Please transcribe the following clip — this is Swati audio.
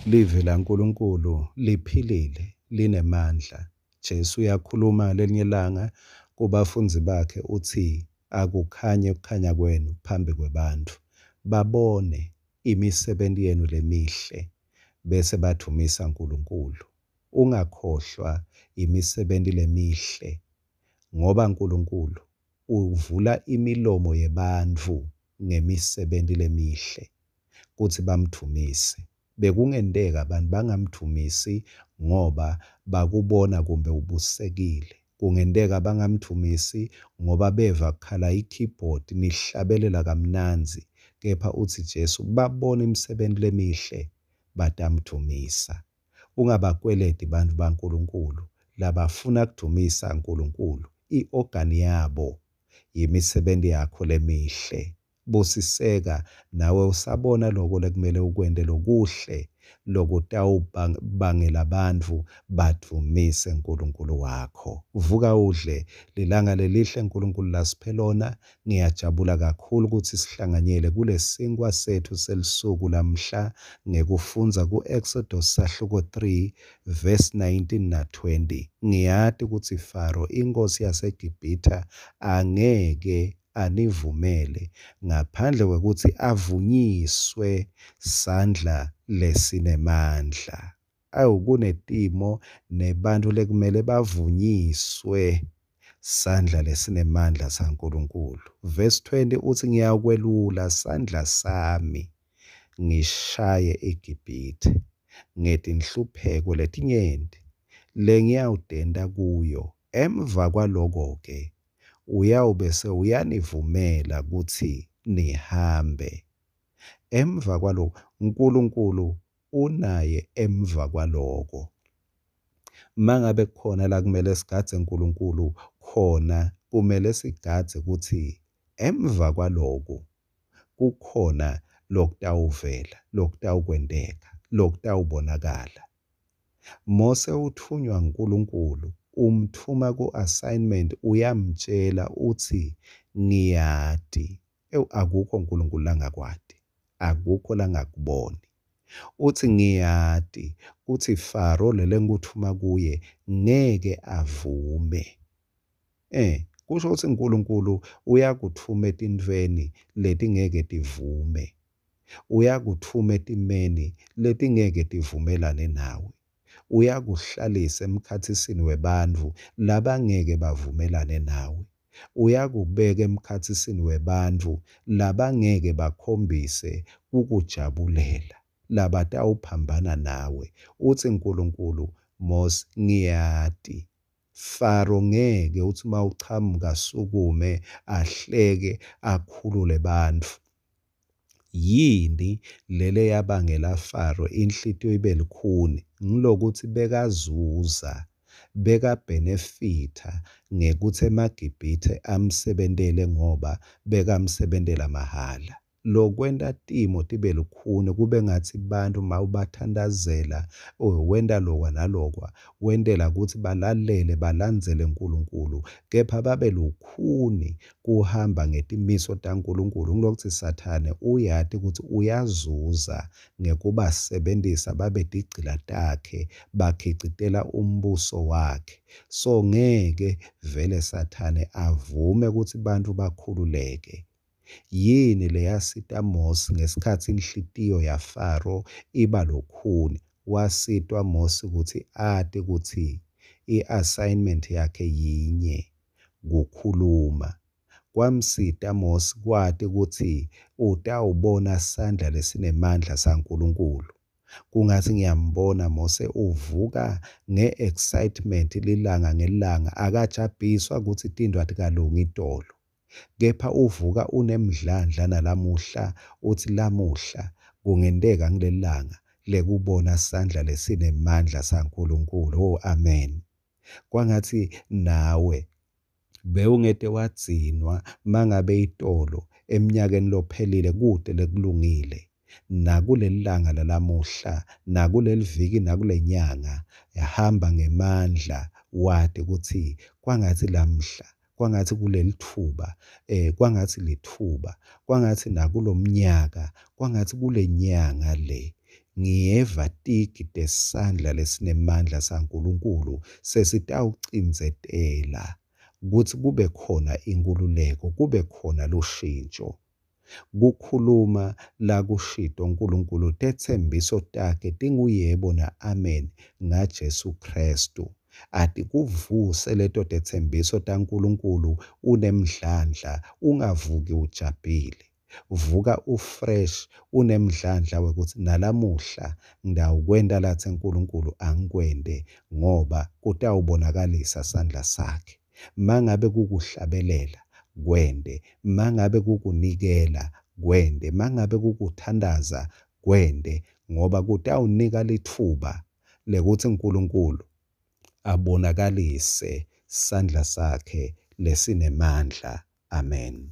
Livi laNkulunkulu liphilile, linemandla. Jesu uyakhuluma ngalelinye ilanga kubafundzi bakhe utsi, akukhanye kukhanya kwenu phambi kwebantfu, babone imisebenti yenu lemihle bese badvumisa Nkulunkulu. Ungakhohlwa imisebenti lemihle ngoba Nkulunkulu uvula imilomo yebantfu ngemisebenti lemihle kutsi bamdvumise. Bekungenteka abantu bangamdvumisi ngoba bakubona kumbe ubusekile. Kungenteka bangamdvumisi ngoba beva kukhala i-keyboard nihlabelela kamnandzi, kepha utsi Jesu babona imisebenti lemihle batamdvumisa. Ungabakweleti bantfu baNkulunkulu labafuna kudvumisa Nkulunkulu. I-organ yabo yimisebenti yakho lemihle. Busiseka nawe usabona loko lekumele ukwente lokuhle lokutawubangela bantfu badvumise Nkulunkulu wakho. Vuka udle, lilanga lelihle Nkulunkulu lasiphe lona. Ngiyajabula kakhulu kutsi sihlanganyele kulesinkwa setfu selisuku lamhla ngekufundza ku-Exodus sahluko 3 verse 19 na 20. Ngiyati kutsi Faro inkhosi yaseGibhithe angeke anivumele ngaphandle kwekutsi avunyiswe sandla lesinemandla. Awu, kunetimo nebantfu lekumele bavunyiswe sandla lesinemandla saNkulunkulu. Verse 20 utsi, ngiyawukwelula sandla sami ngishaye iGibhithe ngetinhlupheko letinyenti lengiyawutenta kuyo. Emva kwaloko-ke uyawube sewuyanivumela kutsi nihambe. Emva kwaloko, Nkulunkulu unaye emva kwaloko. Mangabe kukhona la kumele sigadze Nkulunkulu khona, kumele sigadze kutsi emva kwaloku kukhona lokutawuvela, lokutawukwenteka, lokutawubonakala. Mose utfunywa nguNkulunkulu, umtfuma ku-assignment, uyamtjela utsi ngiyati. Ewu, akukho Nkulunkulu langakwati, akukho langakuboni. Utsi ngiyati kutsi Faro lelengikutfuma kuye ngeke avume. Kusho kutsi Nkulunkulu uyakutfuma etintfweni letingeke tivume. Uyakutfuma etimeni letingeke tivumelane nawe. Uyakuhlalisa emkhatsisini webantfu labangeke bavumelane nawe. Uyakubeka emkhatsisini webantfu labangeke bakhombise kukujabulela, labatawuphambana nawe. Utsi Nkulunkulu, Mosi, ngiyati Faro ngeke utsi uma uchamuka asukume ahleke akhulule bantfu. Yini lele yabangela Faro inhlitiyo ibe lukhuni? Ngilokutsi bekazuza, bekabhenefitha ngekutsi emaGibhithe amsebentele ngoba bekamsebentela mahhala. Lokwenta timo tibe lukhuni kube ngatsi bantfu mawubathandazela wenta lokwa nalokwa wentela kutsi balalele balandzele Nkulunkulu, kepha babe lukhuni kuhamba ngetimiso taNkulunkulu. Ngilokutsi Sathane uyati kutsi uyazuza ngekubasebentisa babe tigcila takhe, bakhicitela umbuso wakhe. So ngeke vele Sathane avume kutsi bantfu bakhululeke. Yini leyasita Mosi ngesikhatsi inhlitiyo yaFaro iba lukhuni? Wasitwa Mosi kutsi ati kutsi i-assignment yakhe yinye, kukhuluma. Kwamsita Mosi kwati kutsi utawubona sandla lesinemandla saNkulunkulu. Kungatsi ngiyambona Mose uvuka nge-excitement lilanga ngelanga, akajabhiswa kutsi tintfo atikalungi itolo, kepha uvuka unemdlandla nalamuhla utsi lamuhla kungenteka ngilelanga lekubona sandla lesinemandla saNkulunkulu. Oh, amen. Kwangatsi nawe bewungete wadzinwa mangabe itolo eminyakeni lophelile kute lekulungile, nakulelilanga lalamuhla, nakuleliviki, nakulenyanga, hamba ngemandla wati kutsi kwangatsi lamhla, kwangatsi kulelitfuba, kwangatsi litfuba, kwangatsi nakulomnyaka, kwangatsi kulenyanga le. Ngiyeva tigi tesandla lesinemandla saNkulunkulu sesitawucindzetela kutsi kube khona inkhululeko, kube khona lushintjo. Kukhuluma lakushito Nkulunkulu, tetsembiso takhe tinguYebo na-Amen ngaJesu Khristu. Atikuvuse leto tetsembiso taNkulunkulu unemdlandla, ungavuki ujabhile. Vuka ufresh unemdlandla wekutsi nalamuhla ngitawukwenta latsi Nkulunkulu angikwente ngoba kutawubonakalisa sandla sakhe. Mangabe kukuhlabelela kwente, mangabe kukunikela kwente, mangabe kukuthandaza kwente ngoba kutawunika litfuba lekutsi Nkulunkulu abonakalise sandla sakhe lesinemandla. Amen.